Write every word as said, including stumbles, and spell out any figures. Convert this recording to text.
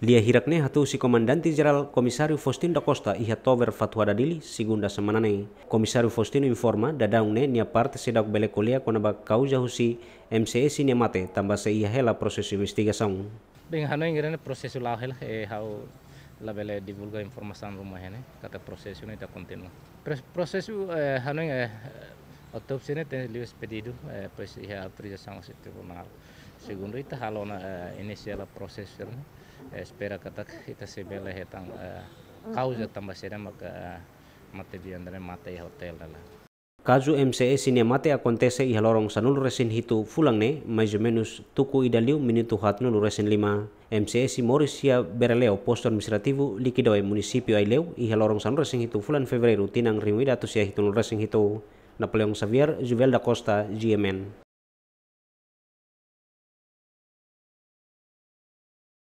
Lia hirak ne'e hato'o husi Komandante Jerál Komisáriu Faustino da Costa iha Tover Fatuhada, Dili, segunda semana ne'e. Komisáriu Faustino informa, daudaun ne'e nia parte seidauk bele ko'alia kona-ba kauza husi M C S nia mate, tanba sei iha hela prosesu investigasaun. Bem, hanoin grande prosesu la'o hela, eh, ha'u labele divulga informasaun ruma ne'e, katak prosesu ne'e ita kontinua. Pres-, prosesu, eh, hanoin, eh, autópsia ne'e tenke liu espedidu, eh, depois iha autorizasaun husi tribunál. Segundu ita halo ona, eh, inisiál prosesu ne'e, eh, espera katak ita sei bele hetan, eh, kauza tanba saida maka, eh, mate bian ne'e mate iha hotél ne'e lae. Kazu M C S nia mate akontese iha loron sanulu-resin-hitu fulan ne'e, mais ou menus tuku ida liu minutu haatnulu-resin-lima. M C S moris iha Bereleu, Postu Administrativu Liquidoe, Munisípiu Aileu, iha loron sanulu-resin-hitu fulan Fevereiru, tinan rihun ida atus sia hitunulu-resin-hitu. Napoleão Xavier, Juvel da Costa, G M N.